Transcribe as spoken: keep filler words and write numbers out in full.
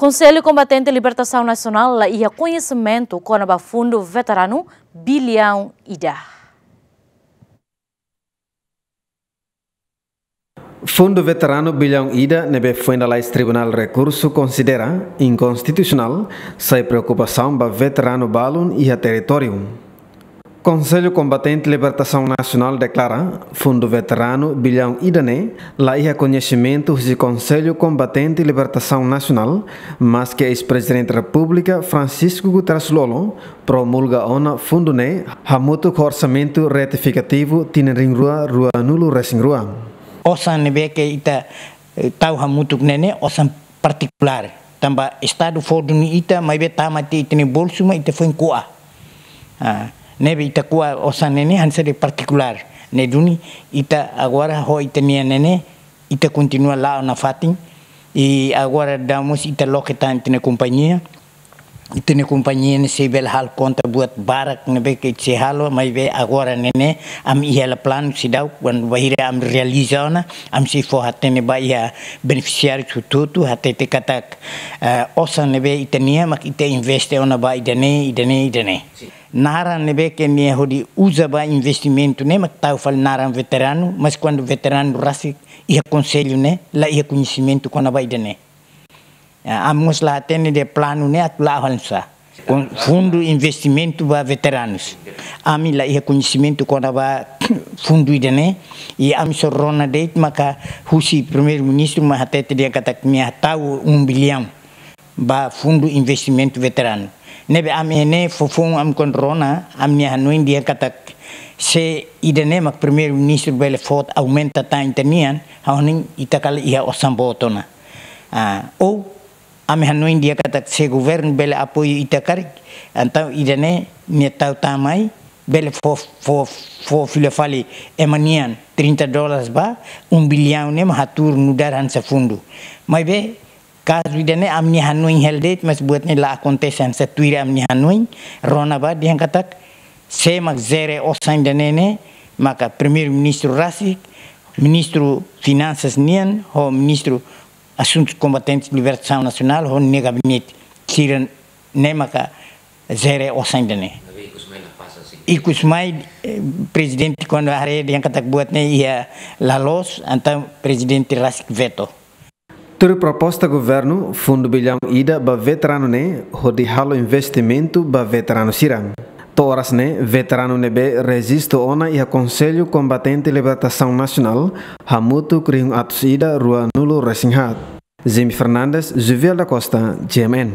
Konsellu Kombatente Libertasaun Nasionál la iha koñesimentu kona-ba fundu veteranu biliaun ida. Fundu veteranu biliaun ida ne'ebé foin lalais Tribunál Rekursu konsidera inkonstitusionál, sai preokupasaun ba veteranu balun iha territóriu. Konsellu Kombatente Libertasaun Nasionál deklara, fundu veteranu biliaun ida ne'e la iha koñesimentu husi Konsellu Kombatente Libertasaun Nasionál, maske eis-Prezidente Repúblika Francisco Guterres Lú Olo promulga ona fundu ne'e hamutuk ho orsamentu retifikativu tinan rihun rua ruanulu-resin-rua. Osan ne'ebé ke ita, eh, tau hamutuk ne'e ne'e osan partikulár. Tanba Estadu fó duni ita, maibé tama tiha ita-nia bolsu, mak ita foin ko'a. Ah, ne'ebé ita ko'a osan ne'e ne'e hanesan de'it partikulár. Ne'e duni ita agora ho ita-nia ne'e ne'e, ita kontinua la'o nafatin. I agora daudaun mós ita loke tan ita-nia kompañia. Ita-nia kompañia ne'e sei bele halo konta buat barak ne'ebé ke sei halo, maibé agora ne'e ne'e ami iha hela planu seidauk, kuandu bainhira ami realiza ona, ami sei fó hatene ba iha benefisiáriu hotu-hotu, hatete katak, eh, osan ne'ebé ita-nian mak ita investe ona ba ida-ne'e, ida-ne'e, ida-ne'e. Naran ne'ebé ke nia hodi uza ba investimentu ne'e mak tau fali naran veteranu, mas kuandu veteranu rasik iha konsellu ne'e la iha koñesimentu kona-ba ida-ne'e. Ya, ami mós la hatene de'it planu ne'e atu la'o oinsá. Kon-, fundu investimentu ba veteranus. Ami la iha koñesimentu kona-ba fundu ida-ne'e, i ami só rona de'it maka husi Primeiru-Ministru mak hatete dehan katak nia tau um bilhão ba fundu investimentu veteranu. Ne'ebé ami ne'e foufoun ami kuandu rona, ami-nia hanoin dehan katak se ida-ne'e mak Primeiru-Ministru bele fó aumenta tan ita-nian, ha'u hanoin ita kala iha osan boot ona. Ah, ou ami hanoin dehan katak se governu bele apoiu ita karik, entaun ida-ne'e nia tau tan mai, bele fó, fó, fó fila fali ema nian trinta dólares ba, um bilhão ne'e mak hatuur nu'udar hanesan fundu. Maibé, kazu ida-ne'e ami-nia hanoin hela de'it, mas buat ne'e la akontese hanesan tuir ami-nia hanoin, rona ba dehan katak, sé mak jere osan ida-ne'e ne'e, maka Primeiru-Ministru rasik, Ministru Finansas nian, ho Ministru Asuntus Kombatentes Libertasaun Nasionál, ho nia gabinete. Sira-ne'e maka jere osan ida-ne'e. Ikus mai, eh, Prezidente kuandu haree dehan katak buat ne'e iha la loos, entaun Prezidente rasik veto. Tuir proposta governu, fundu biliaun ida ba veteranu ne'e hodi halo investimentu ba veteranu sira. To'o oras ne'e, veteranu ne'ebé rejistu ona iha Konsellu Kombatente Libertasaun Nasionál hamutuk rihun atus ida ruanulu-resin-haat. Jimmy Fernandes, Juviel da Costa, G M N.